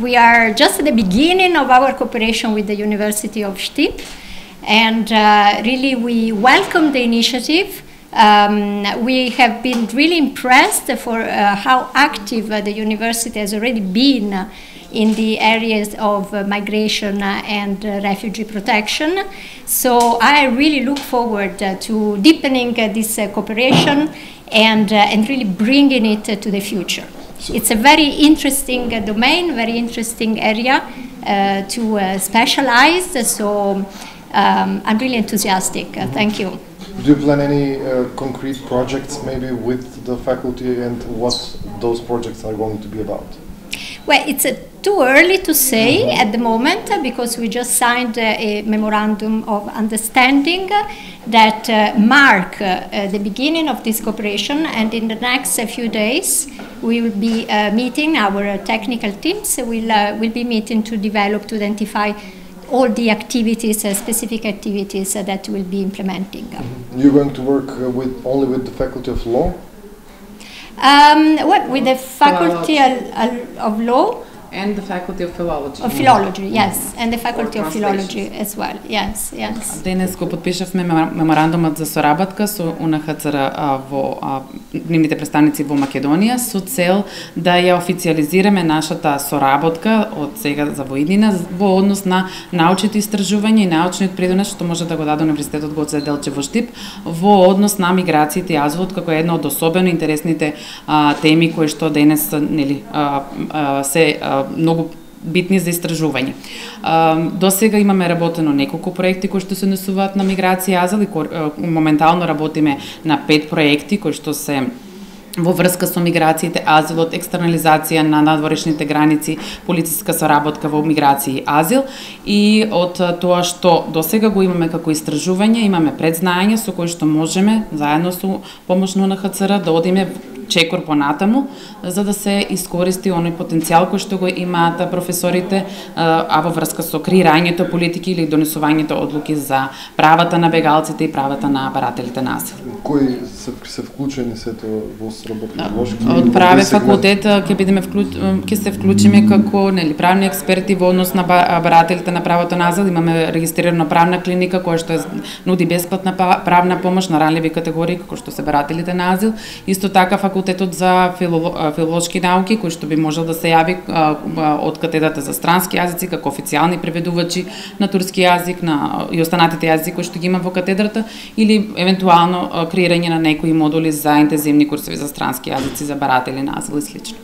We are just at the beginning of our cooperation with the University of Štip, and really we welcome the initiative. We have been really impressed for how active the university has already been in the areas of migration and refugee protection. So I really look forward to deepening this cooperation and really bringing it to the future. It's a very interesting domain, very interesting area to specialize, so I'm really enthusiastic. Thank you. Do you plan any concrete projects maybe with the faculty, and what those projects are going to be about? Well, it's too early to say at the moment because we just signed a memorandum of understanding that mark the beginning of this cooperation, and in the next few days we will be meeting, our technical teams will be meeting to develop, to identify all the activities, specific activities that we'll be implementing. You're going to work only with the Faculty of Law? Well, with the Faculty of Law. And the Faculty of Philology. Of Philology, yes, and the Faculty of Philology as well, yes. Денес го подпишавме меморандумот за соработка со УНХЦР во нивните представници во Македонија со цел да ја официализираме нашата соработка од сега за воиднина во однос на научните истражувања и научниот придонес што може да го даде Универзитетот Гоце Делчев во Štip во однос на миграциите и азилот, како една од особено интересните теми кои што денес се многу битни за истражување. До сега имаме работено неколку проекти кои што се однесуваат на миграција и азил и моментално работиме на 5 проекти кои што се во врска со миграциите, азилот, екстернализација на надворешните граници, полициска соработка во миграција и азил, и од тоа што досега го имаме како истражување, имаме предзнаење со кои што можеме заедно со помош на УНХЦР да одиме чекор понатаму, за да се искористи оној потенцијал кој што го имаат професорите, а во врска со креирањето политики или донесувањето одлуки за правата на бегалците и правата на барателите на азил. Кои се вклучени сето во соработка? Од праве факултет ќе се вклучиме како правни експерти во однос на барателите на правото на азил. Имаме регистрирана правна клиника која што нуди бесплатна правна помош на ранливи категории како што се барателите на азил. Исто така факултетот за филолошки науки кој што би можел да се јави од катедрата за странски јазици како официјални преведувачи на турски јазик и останатите јазици кои што ги има во катедрата, или евентуално креирање на некои модули за интензивни курсови за странски јазици за баратели на азил и слично.